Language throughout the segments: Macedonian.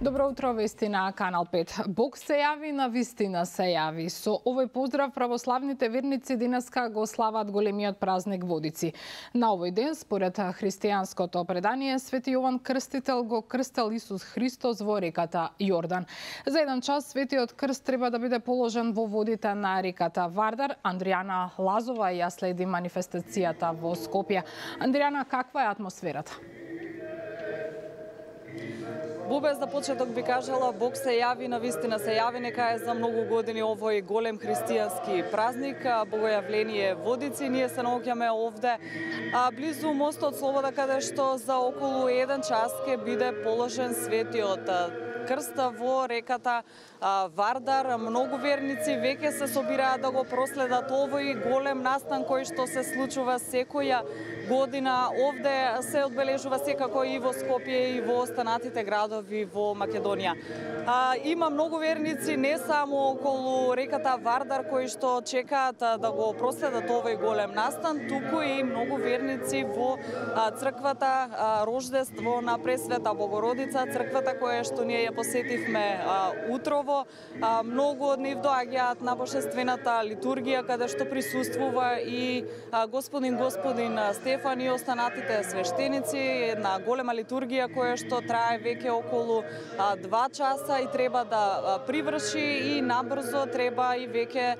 Добро утро, вести на Канал 5. Бог се јави, на вистина се јави. Со овој поздрав православните верници денеска го слават големиот празник Водици. На овој ден, според христијанското предание, Свети Јован Крстител го крстел Исус Христос во реката Јордан. За еден час светиот крст треба да биде положен во водите на реката Вардар. Андријана Лазова ја следи манифестацијата во Скопје. Андријана, каква е атмосферата? Бубе, за почеток би кажала, Бог се јави, на вистина се јави, нека е за многу години овој голем христијански празник, Богојавление Водици. Ние се наоѓаме овде близу мостот Слобода, каде што за околу 1 час ќе биде положен светиот крст во реката Вардар. Многу верници веќе се собираат да го проследат овој голем настан кој што се случува секоја година. Овде се одбележува секако и во Скопје и во останатите градови во Македонија. Има многу верници не само околу реката Вардар кои што чекаат да го проследат овој голем настан, туку и многу верници во црквата Рождество на Пресвета Богородица, црквата која што ние ја посетивме утрово. Многу од нив доаѓаат на божествената литургија, каде што присуствува и господин Стефан и останатите свештеници. Една голема литургија која што трае веќе околу 2 часа и треба да приврши и набрзо треба и веќе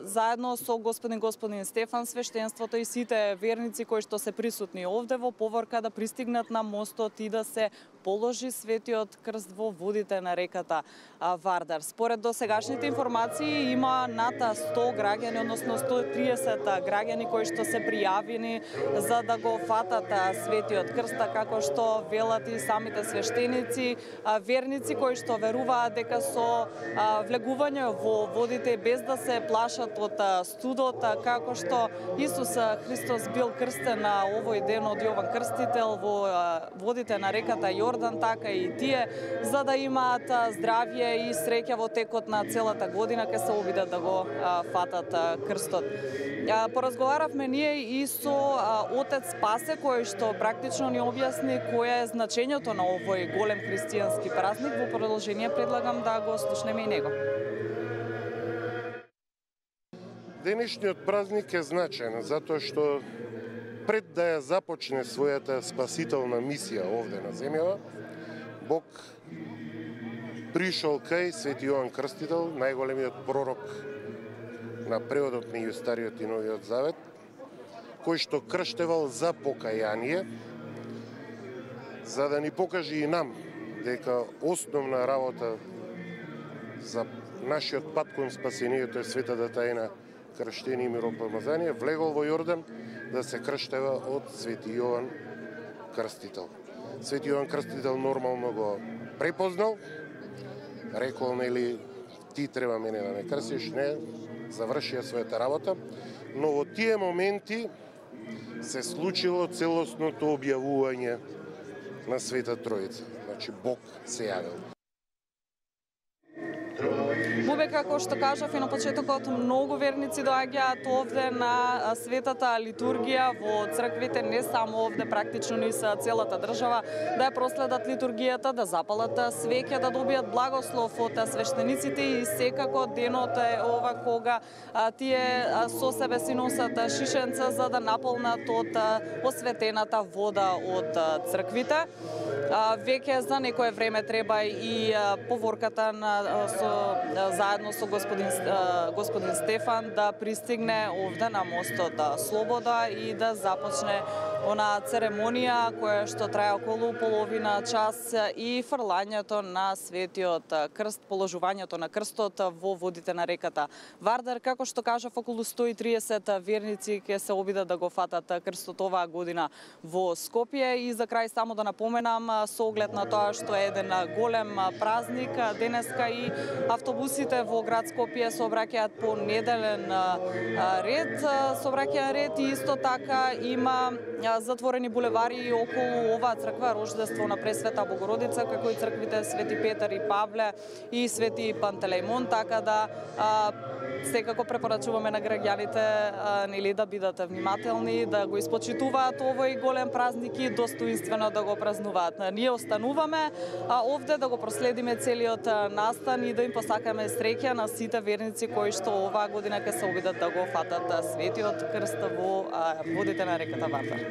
заедно со господин Стефан, свештенството и сите верници кои што се присутни овде во поворка да пристигнат на мостот и да се положи светиот крст во водите на реката Вардар. Според досегашните информации има над 100 граѓани, односно 130 граѓани кои што се пријавени за да го фатат светиот крст, како што велат и самите свештеници, верници кои што веруваат дека со влегување во водите без да се плашат од студот, како што Исус Христос бил крстен на овој ден од Јован Крстител во водите на реката Јордан, така и тие, за да имаат здравје и среќа во текот на целата година, ќе се обидат да го фатат крстот. Поразговаравме ние и со отец Спасе, кој што практично ни објасни која е значењето на овој голем христијански празник. Во продолжение предлагам да го слушнеме и него. Денешниот празник е значаен затоа што пред да ја започне својата спасителна мисија овде на земјава, Бог пришол кај Свети Јован Крстител, најголемиот пророк на преводот меѓу Стариот и Новиот Завет, кој што крштевал за покаяние, за да ни покаже и нам дека основна работа за нашиот пат кон спасението е светата тајна крштение и миропомазание, влегол во Јордан да се крштева од Свети Јован Крстител. Свети Јован Крстител нормално го препознал, рекол, нели, ти треба мене да ме крстиш, не, завршија својата работа, но во тие моменти се случило целосното објавување на Света Троица. Значи, Бог се јавил. Бубе, како што кажав и на почетокот, многу верници доаѓаат овде на светата литургија во црквите, не само овде, практично ни са целата држава, да ја проследат литургијата, да запалат свеќе, да добијат благослов од свештениците и секако денот е ова кога тие со себе си носат шишенца за да наполнат од осветената вода од црквите. Веќе за некое време треба и поворката заедно со господин Стефан да пристигне овде на мостот Слобода и да започне она церемонија која што трае околу половина час и фрлањето на светиот крст, положувањето на крстот во водите на реката Вардар. Како што кажав, околу 130 верници ќе се обидат да го фатат крстот оваа година во Скопје. И за крај само да напоменам, со оглед на тоа што е еден голем празник, денеска и автобусите во град Скопје сообраќаат по неделен ред, и исто така има затворени булевари околу оваа црква Рождество на Пресвета Богородица, како и црквите Свети Петар и Павле и Свети Пантелејмон, така да Секако препорачуваме на граѓаните нели да бидат внимателни, да го испочитуваат овој голем празник и достоинствено да го празнуваат. Ние остануваме овде да го проследиме целиот настан и да им посакаме среќа на сите верници кои што оваа година ќе се обидат да го фатат светиот крст во водите на реката Вардар.